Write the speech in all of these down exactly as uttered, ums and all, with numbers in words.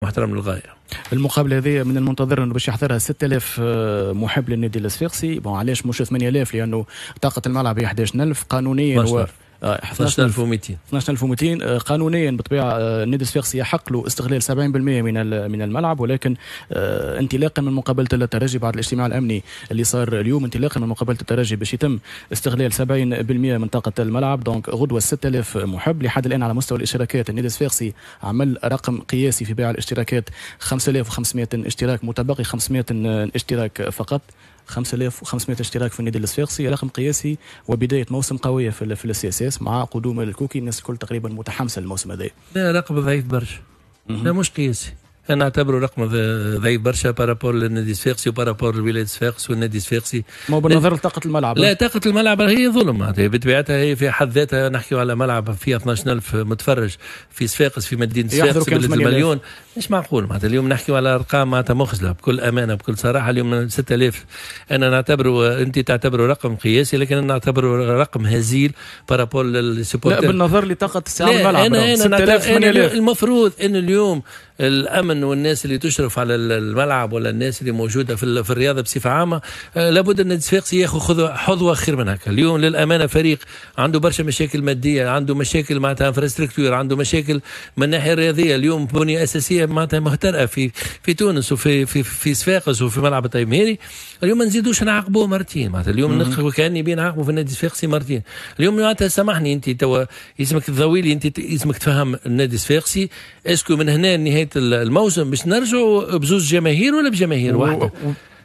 محترم للغايه. المقابلة هذه من المنتظر انه باش يحضرها ستة آلاف آه، محب للنادي الصفاقسي. bon، علاش مش ثمانية آلاف؟ لانه طاقة الملعب هي أحد عشر ألف قانونيا و اثنا عشر ألف ومئتين. اثنا عشر ألف ومئتين. آه، قانونيا بالطبيعة آه، النادي الصفاقسي يحق له استغلال سبعين بالمئة من من الملعب، ولكن آه، انطلاقا من مقابله الترجي، بعد الاجتماع الامني اللي صار اليوم، انطلاقا من مقابله الترجي باش يتم استغلال سبعين بالمئة من طاقة الملعب. donc غدوه ستة آلاف محب. لحد الان على مستوى الاشتراكات، النادي الصفاقسي عمل رقم قياسي في بيع الاشتراكات، خمسة آلاف وخمسمئة اشتراك، متبقي خمسمئة اشتراك فقط. خمسة آلاف وخمسمئة اشتراك في النادي الصفاقسي، رقم قياسي وبداية موسم قوية في في ال CSS مع قدوم الكوكي. الناس الكل تقريبا متحمسة للموسم هذا. لا، رقم ضعيف برشا. لا، مش قياسي، انا اعتبره رقم ضعيف برشا par rapport للنادي الصفاقسي و par rapport لولاية صفاقس والنادي الصفاقسي. ما بالنظر لطاقة الملعب. لا، طاقة الملعب هي ظلم بطبيعتها، هي في حد ذاتها. نحكي على ملعب فيه اثنا عشر ألف متفرج في صفاقس، في مدينة صفاقس، بلد المليون، مش معقول. معناتها اليوم نحكي على ارقام معناتها مخجله بكل امانه، بكل صراحه. اليوم ستة آلاف انا نعتبره، انت تعتبره رقم قياسي، لكن انا نعتبره رقم هزيل par rapport لل supporters. لا، بالنظر لطاقة استيعاب الملعب. انا انا, أنا المفروض ان اليوم الامن والناس اللي تشرف على الملعب ولا الناس اللي موجودة في, في الرياضة بصفة عامه، آه، لابد ان الصفاقسي ياخذ حظوه خير من هكا. اليوم للامانة فريق عنده برشا مشاكل ماديه، عنده مشاكل معناتها infrastructure، عنده مشاكل من الناحية الرياضيه. اليوم بنيه اساسية معناتها مهترئه في في تونس وفي في في صفاقس وفي ملعب الطيب مهيري. اليوم ما نزيدوش نعاقبوه مرتين. معناتها اليوم كاني بين نعاقبوا في النادي الصفاقسي مرتين. اليوم معناتها سامحني، انت توا يلزمك تضويلي، انت يلزمك تفهم النادي الصفاقسي، est-ce que من هنا لنهاية الموسم باش نرجعوا بزوز جماهير ولا بجماهير واحده؟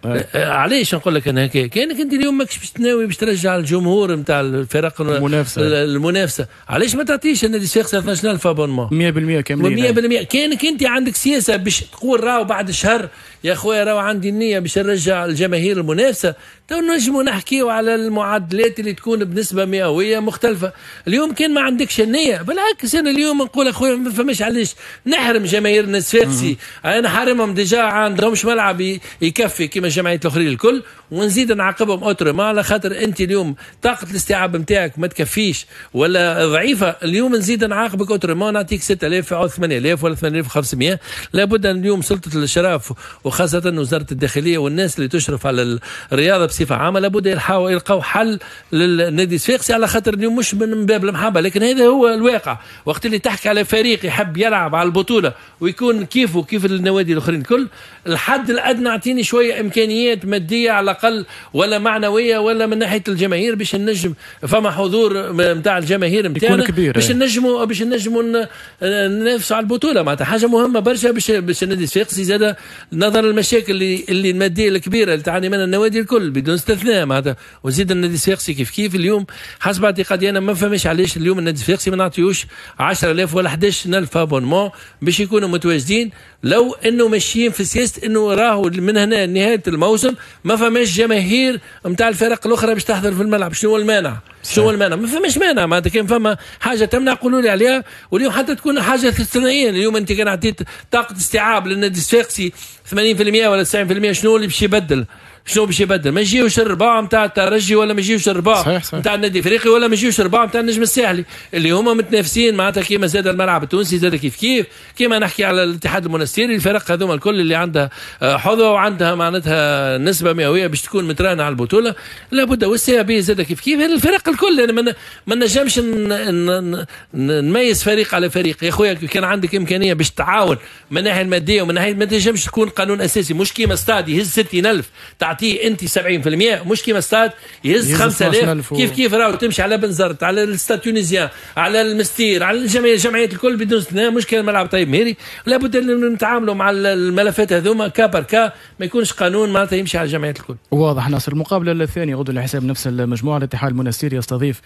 آه، علاش نقول لك انا هكا؟ كانك انت اليوم ماكش باش تناوي باش ترجع الجمهور نتاع الفرق المنافسه. المنافسه، علاش ما تعطيش النادي الصفاقسي اثنا عشر ألف abonnements؟ مية بالمية كاملين. مية بالمية. كانك انت عندك سياسة باش تقول راهو بعد شهر يا خويا راهو عندي النية باش نرجع الجماهير المنافسه، تو نجموا نحكيو على المعادلات اللي تكون بنسبة مئوية مختلفه. اليوم كان ما عندكش النيه، بالعكس، انا اليوم نقول اخويا ما فماش علاش نحرم جماهير الصفاقسي. انا حارمهم déjà، عندهمش ملعب يكفي كما الجمعيات الاخرين الكل، ونزيد نعاقبهم autrement على خاطر انت اليوم طاقة الاستيعاب نتاعك ما تكفيش ولا ضعيفه. اليوم نزيد نعاقبك autrement، نعطيك ستة آلاف او ثمانية آلاف ولا ثمانية آلاف وخمسمية. لابد ان اليوم سلطة الاشراف وخاصة وزارة الداخلية والناس اللي تشرف على الرياضة بصفة عامة لابد يلقاو حل للنادي الصفاقسي، على خاطر اليوم مش من باب المحبه، لكن هذا هو الواقع. وقت اللي تحكي على فريق يحب يلعب على البطولة ويكون كيفه كيف النوادي الاخرين الكل، الحد الادنى اعطيني شوية امكانيات مادية على الاقل ولا معنوية ولا من ناحية الجماهير باش نجم فما حضور نتاع الجماهير نتاعنا باش نجموا باش نجموا ننافسوا على البطوله. معناتها حاجة مهمة برشا باش باش النادي الصفاقسي زاد، نظرا للمشاكل اللي اللي المادية الكبيرة اللي تعاني منها النوادي الكل بدون استثناء، معناتها وزيد النادي الصفاقسي كيف كيف. اليوم حسب اعتقادي انا ما فماش علاش اليوم النادي الصفاقسي ما نعطيوش عشرة آلاف ولا أحد عشر ألف abonnements باش يكونوا متواجدين، لو انه ماشيين في سياسة انه راهو من هنا نهاية الموسم ما فماش جماهير نتاع الفرق الاخرى باش تحضر في الملعب. شنو هو المانع؟ شنو هو المانع؟ ما فماش مانع. معناتها كان فما حاجة تمنع قولوا لي عليها. واليوم حتى تكون حاجة استثنائيه، اليوم انت كان عطيت طاقة استيعاب للنادي الصفاقسي ثمانين بالمية ولا تسعين بالمية، شنو اللي باش يبدل؟ شنو باش يبدل؟ ما يجيوش الربع نتاع الترجي ولا ما يجيوش الربع نتاع النادي الافريقي ولا ما يجيوش الربع نتاع النجم الساحلي اللي هما متنافسين. معناتها كيما زاد الملعب التونسي زاد كيف كيف، كيما نحكي على الاتحاد المونستيري، الفرق هذوما الكل اللي عندها آه، حظوه وعندها معناتها نسبه مئوية باش تكون متراهنه على البطوله، لابد وال CAB زاد كيف كيف. الفرق الكل يعني ما نجمش نميز فريق على فريق. يا خويا كان عندك امكانية باش تعاون من الناحية المادية ومن ناحيه، ما تنجمش تكون قانون اساسي. مش كيما ستاد يهز ستين ألف تعطيه انت سبعين بالمية، مش كيما ستاد يهز خمسة آلاف كيف كيف. راهو تمشي على بنزرت، على ال Stade Tunisien، على المستير، على الجمعية الجمعيات الكل بدون استثناء، مش كان ملعب طيب مهيري. لابد ان نتعاملوا مع الملفات هذوما cas par cas، ما يكونش قانون معناتها يمشي على الجمعيات الكل. واضح ناصر. المقابلة الثانية غدوه لحساب نفس المجموعه، الاتحاد المنستيري يستضيف